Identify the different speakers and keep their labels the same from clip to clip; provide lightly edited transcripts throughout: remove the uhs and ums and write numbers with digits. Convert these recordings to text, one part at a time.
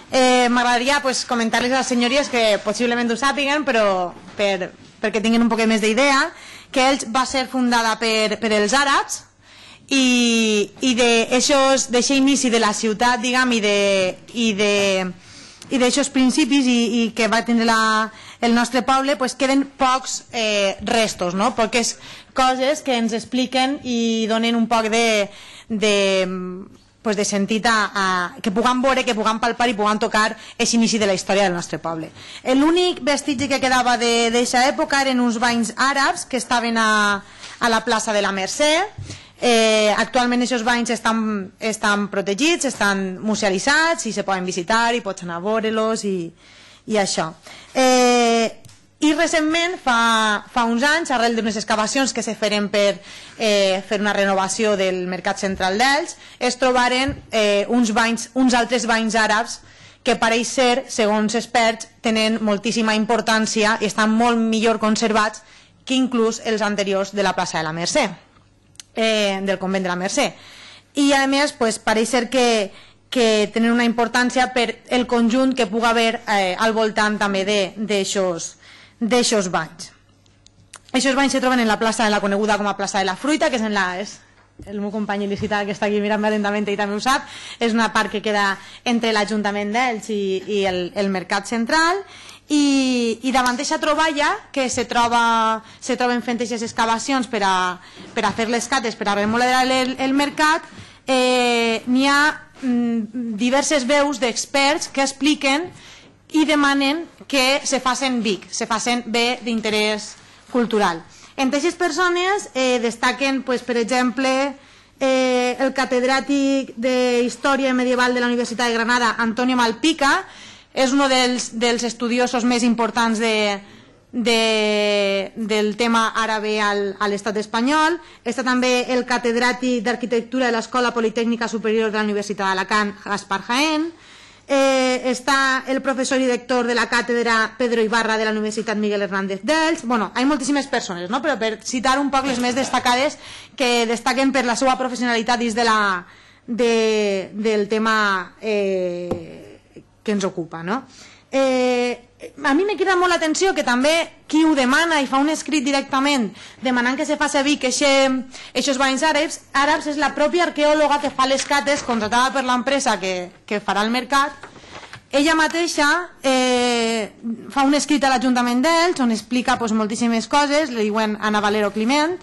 Speaker 1: M'agradaria comentar-les a les senyories que possiblement ho sàpiguen, però perquè tinguin un poc més d'idea, que Elx va ser fundada per els àrabs i d'aquest inici de la ciutat, diguem, i d'aixòs principis i que va tindre el nostre poble, queden pocs restos, poques coses que ens expliquen i donen un poc de sentit que puguem veure, que puguem palpar i puguem tocar aquest inici de la història del nostre poble. L'únic vestigi que quedava d'aquesta època eren uns banys àrabs que estaven a la plaça de la Mercè. Actualment aquests banys estan protegits, estan musealitzats i se poden visitar i pots anar a veure-los i això. I recentment, fa uns anys, arrel d'unes excavacions que se feren per fer una renovació del mercat central d'Elx, es trobaren uns altres banys àrabs que pareix ser, segons experts, tenen moltíssima importància i estan molt millor conservats que inclús els anteriors de la plaça de la Mercè, del convent de la Mercè. I a més, pareix ser que tenen una importància per el conjunt que pugui haver al voltant també d'aixòs banys. Aquests banys se troben en la plaça de la coneguda com a plaça de la Fruita, que és el meu company il·licita que està aquí mirant-me atentament i també ho sap, és una part que queda entre l'Ajuntament d'Elx i el mercat central, i davant d'aquesta troballa que se troben fent aquestes excavacions per a fer les cates, per a remodelar el mercat, n'hi ha diverses veus d'experts que expliquen i demanen que se facin BIC, se facin bé d'interès cultural. Entre aquestes persones destaquen, per exemple, el catedràtic d'Història Medieval de la Universitat de Granada, Antonio Malpica, és un dels estudiosos més importants del tema àrabe a l'estat espanyol. Està també el catedràtic d'Arquitectura de l'Escola Politècnica Superior de la Universitat d'Alacant, Gaspar Jaén. Està el professor i director de la càtedra Pedro Ibarra de la Universitat Miguel Hernández d'Elx. Bueno, hi ha moltíssimes persones, però per citar un poc les més destacades que destaquen per la seva professionalitat dins del tema que ens ocupa. A mi me crida molt l'atenció que també qui ho demana i fa un escrit directament demanant que se faci BIC aquests banys àrabs és la pròpia arqueòloga que fa les cates, contratada per l'empresa que farà el mercat. Ella mateixa fa un escrit a l'Ajuntament d'Elx on explica moltíssimes coses, li diuen Ana Valero Climent,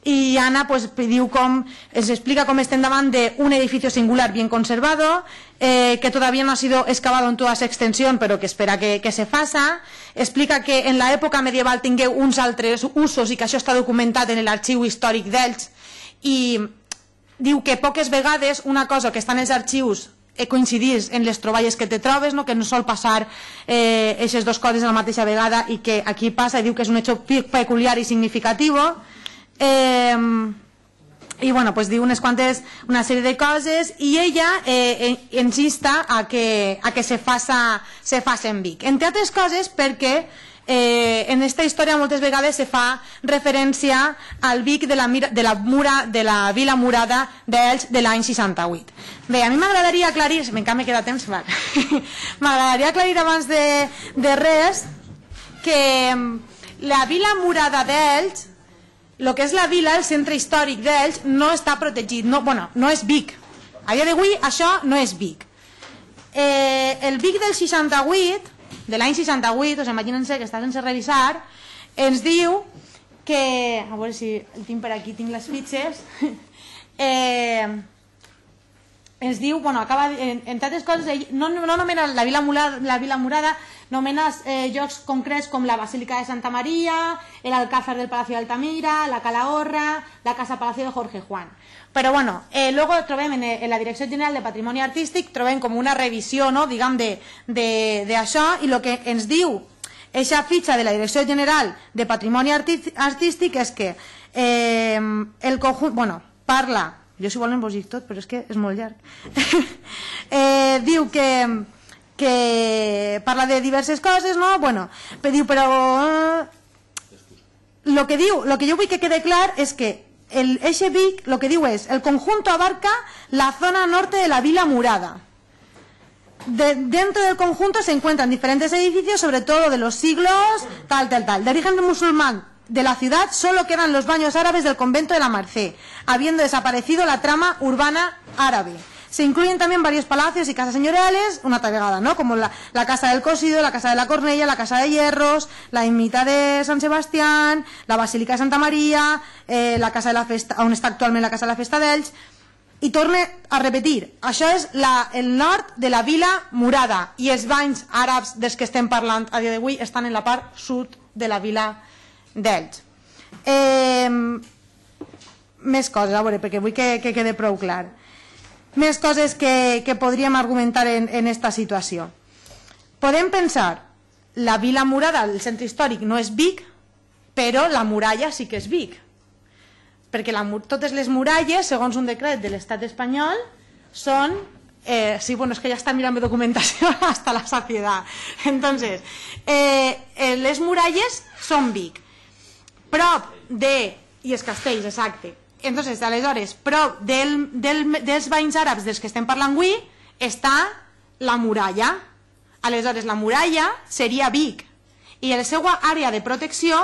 Speaker 1: i Ana ens explica com estem davant d'un edificio singular bien conservado, que todavía no ha sido excavado en toda su extensión, pero que espera que se faça. Explica que en l'època medieval tingueu uns altres usos i que això està documentat en l'Arxiu Històric d'Elx, i diu que poques vegades una cosa que està en els arxius coincidís en les troballes que te trobes, que no sol passar aquestes dues coses a la mateixa vegada, i que aquí passa, i diu que és un hecho peculiar i significativo. I bueno, diu una sèrie de coses, i ella ens insta a que se facin BIC, entre altres coses perquè en aquesta història moltes vegades se fa referència al BIC de la Vila Murada d'Elx de l'any 68. Bé, a mi m'agradaria aclarir, encara me queda temps, m'agradaria aclarir abans de res que la Vila Murada d'Elx, el que és la vila, el centre històric d'Elx, no està protegit, no és BIC. A dia d'avui això no és BIC. El BIC del 68, de l'any 68, imaginen-se que està sense revisar, ens diu que, a veure si el tinc per aquí, tinc les fitxes, ens diu, entre altres coses, no nomena la Vila Murada, nomena llocs concrets com la Basílica de Santa Maria, el Alcázar del Palacio de Altamira, la Calahorra, la Casa Palacio de Jorge Juan. Però bueno, luego trobem en la Direcció General de Patrimoni Artístic, trobem com una revisió, diguem, d'això, i el que ens diu aquesta fitxa de la Direcció General de Patrimoni Artístic és que el conjunt, parla, jo si volen vos dic tot, però és que és molt llarg, diu que parla de diverses coses, però lo que jo vull que quede clar és que eixe BIC lo que diu és el conjunto abarca la zona norte de la Vila Murada. Dentro del conjunto se encuentran diferentes edificios, sobre todo de los siglos tal. De origen musulmán de la ciudad solo quedan los baños árabes del convento de la Merced, habiendo desaparecido la trama urbana árabe. Se incluyen también varios palacios y casas señoriales, una vegada, ¿no? Como la Casa del Cosido, la Casa de la Cornella, la Casa de Hierros, la Ermita de San Sebastián, la Basílica de Santa Maria, la Casa de la Festa, on està actualment la Casa de la Festa d'Elx. I torne a repetir, això és el nord de la Vila Murada i els banys àrabs dels que estem parlant a dia d'avui estan en la part sud de la Vila d'Elx. Més coses, a veure, perquè vull que quede prou clar. Més coses que podríem argumentar en esta situació. Podem pensar, la Vila Murada, el centre històric, no és Vic, però la muralla sí que és Vic. Perquè totes les muralles, segons un decret de l'estat espanyol, són... sí, bueno, és que ja està mirant la documentació hasta la saciedad. Entonces, les muralles són Vic. Prop de... i els castells, exacte. Entonces, aleshores, prop dels banys àrabs dels que estem parlant avui, està la muralla. Aleshores, la muralla seria Vic. I la seva àrea de protecció,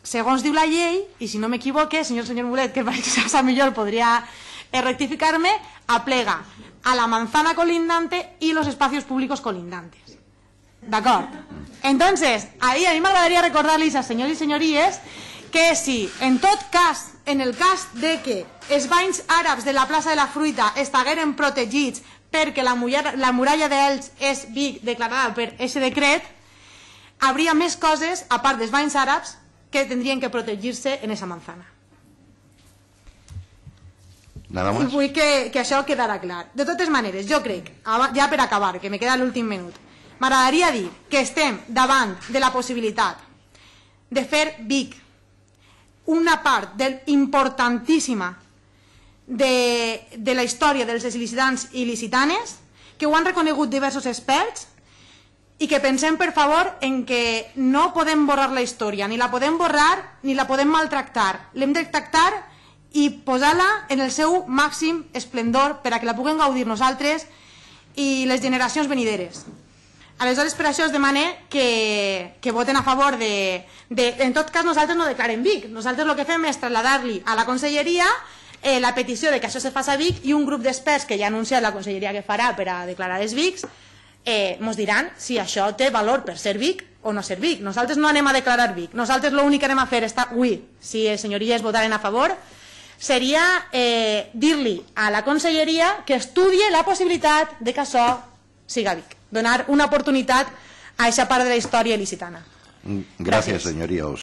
Speaker 1: segons diu la llei, i si no m'equivoque, senyor Mulet, que parece que sabe millor, podria rectificar-me, aplega a la manzana colindante y los espacios públicos colindantes. ¿D'acord? Entonces, ahí a mi m'agradaria recordar-los a senyors i senyories que si, en tot cas, en el cas de que els banys àrabs de la plaça de la Fruita estigueren protegits perquè la muralla d'Elx és Vic declarada per aquest decret, hauria més coses, a part dels banys àrabs, que tindrien que protegir-se en aquesta manzana. I vull que això quedarà clar. De totes maneres, jo crec, ja per acabar, que me queda l'últim minut, m'agradaria dir que estem davant de la possibilitat de fer Vic una part importantíssima de la història dels il·licitants i il·licitanes, que ho han reconegut diversos experts, i que pensem, per favor, en que no podem borrar la història, ni la podem borrar ni la podem maltractar. L'hem de tractar i posar-la en el seu màxim esplendor per a que la puguem gaudir nosaltres i les generacions venideres. Aleshores, per això es demana que voten a favor de... En tot cas, nosaltres no declarem Vic. Nosaltres el que fem és traslladar-li a la conselleria la petició de que això se faci a Vic, i un grup d'experts que ja ha anunciat la conselleria que farà per a declarar els Vics ens diran si això té valor per ser Vic o no ser Vic. Nosaltres no anem a declarar Vic. Nosaltres l'únic que anem a fer avui, si les senyories votaren a favor, seria dir-li a la conselleria que estudie la possibilitat de que això siga Vic. Donar una oportunitat a aquesta part de la història il·licitana.
Speaker 2: Gracias, señoría.